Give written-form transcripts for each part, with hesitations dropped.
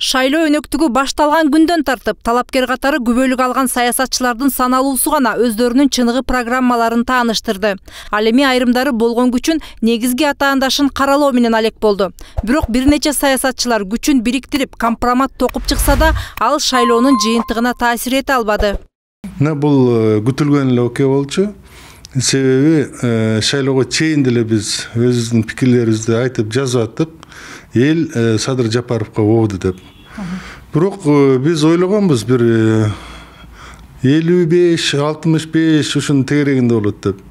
Шайлоо өнөктүгү башталган күндөн тартып, талапкер катары күбөлүк алган саясатчылардын саналуусу гана өздөрүнүн чыныгы программаларын тааныштырды. Ал эми айрымдары болгон күчүн негизги атаандашын каралоо менен алек болду. Бирок бир нече саясатчылар күчүн бириктирип, компромат токуп чыкса да, ал шайлоонун жыйынтыгына таасир эте албады. Бул күтүлгөн эле окуя болчу. Себеби шайлоого чейин деле биз өзүбүздүн пикирлерибизди айтып жазып аттык. Эл Садыр Жапаровго обду деп. Бирок биз ойлогонбуз бир 55-65 ушунун тегерегинде болот деп.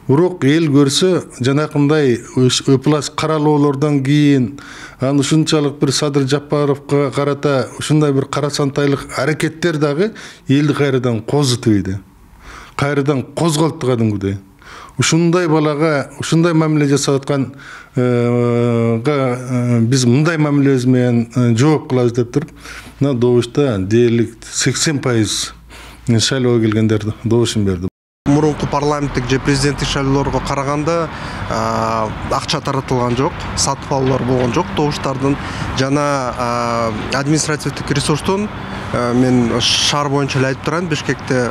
Бирок эл көрсө, жанакындай ыплас каралоолордон кийин аны ушунчалык бир Садыр Жапаровго карата ушундай бир карасантайлык аракеттер дагы элди кайрадан козутуп ийди. Кайрадан козголтту кадимкидей. Ушундай балага ушундай мамиле жасап аткан биз мындай мамилебиз менен жооп кылабыз деп туруп, мына добушта дээрлик 80% шайлоого келгендер добушун берди. Мурунку парламенттик же президенттик шайлоолорго караганда акча таратылган жок, сатып алуулар болгон жок. Добуштардын жана административдик ресурстун мен шаар боюнча эле айтып турайын, Бишкекте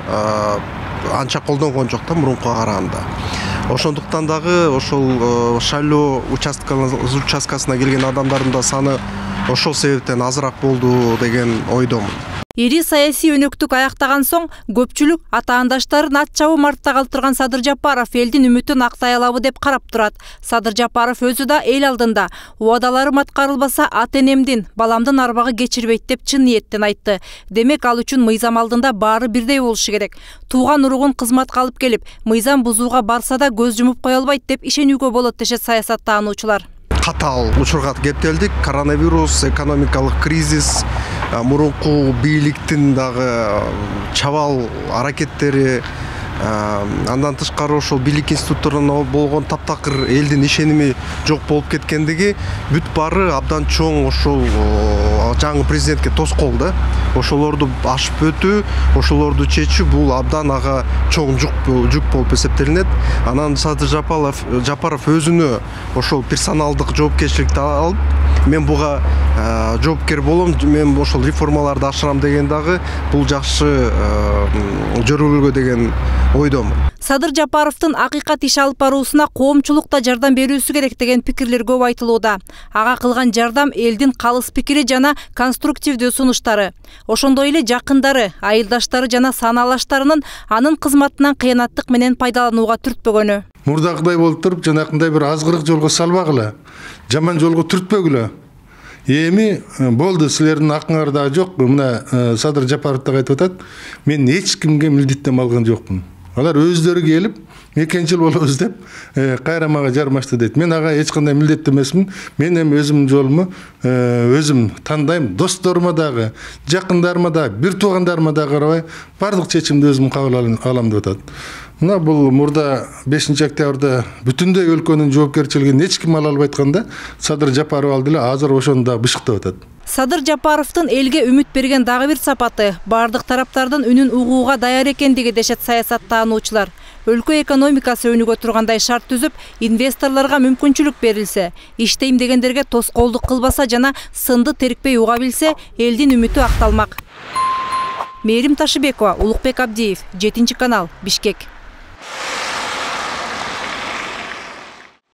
анча колдонгон жок да мурункуга караганда. Ошондуктан дагы ошол шайлоо участкасына келген адамдардын да саны ошол себептен азыраак болду деген ойдомун. Ири саясий өнөктүк аяктаган соң көпчүлүк атаандаштарын ат чабуу мартта калтырган Садыр Жапаров элдин үмүтүн актай алабы деп карап турат. Садыр Жапаров өзү да эл алдында убадаларым аткарылбаса ат энемдин, баламдын арбагы кечирбейт деп чын ниеттен айтты. Демек ал үчүн мыйзам алдында баары бирдей болушу керек. Тууган уругун кызматка алып келип, мыйзам бузууга барса да көз жумуп кое албайт деп ишенүүгө болот дешет саясаттаануучулар. Катаал учурга кептелдик. Коронавирус, экономикалык кризис, мурунку бийликтин дагы чабал аракеттери, андан тышкары ошол бийлик институттарына болгон таптакыр элдин ишеними жок болуп кеткендиги бүт баары абдан чоң ошол жаңы президентке тоскоол да. Ошолорду ашып өтүү, ошолорду чечүү бул абдан ага чоң жүк болуп эсептелинет. Анан Садыр Жапаров өзүнө ошол персоналдык жоопкерчиликти алып, мен буга жоопкер болом, мен ошол реформаларды ашырам деген дагы бул жакшы жөргөлгө деген ойдомун. Садыр Жапаровдун акыйкат иш алып баруусуна коомчулук да жардам берүүсү керек деген пикирлер көп айтылууда. Ага кылган жардам элдин калыс пикири жана конструктивдүү сунуштары. Ошондой эле жакындары, айылдаштары жана санаалаштарынын анын кызматынан кыянаттык менен пайдаланууга түртпөгөнү. Мурдагыдай болуп туруп, жанакындай бир азгырык жолго салбагыла, жаман жолго түртпөгүлө. Эми болду, силердин акыңар дагы жок. Мына Садыр Жапаров да айтып атат, мен эч кимге милдеттенме алган жокмун. Алар өздөрү келип, 2 жыл болобуз деп, кайра мага жармашты дейт. Мен ага эч кандай милдеттемесмин. Мен эми өзүмдүн жолуму өзүм тандайм. Досторума дагы, жакындарыма дагы, бир туугандарыма дагы карабай, бардык чечимди өзүм кабыл алам деп атат. Мына бул мурда 5-октябрда бүтүндөй өлкөнүн жоопкерчилигин эч ким ала албай атканда, Садыр Жапаров алды эле азыр ошону да бышыктап атат. Садыр Жапаровдун элге үмүт берген дагы бир сапаты бардык тараптардын үнүн угууга даяр экендиги дешет саясаттаануучулар. Өлкө экономикасы өнүгө тургандай шарт түзүп, инвесторлорго мүмкүнчүлүк берилсе, иштейм дегендерге тоскоолдук кылбаса жана сынды терикпей уга билсе, элдин үмүтү акталмак. Мээрим Ташыбекова, Улукбек Абдиев, 7 канал, Бишкек.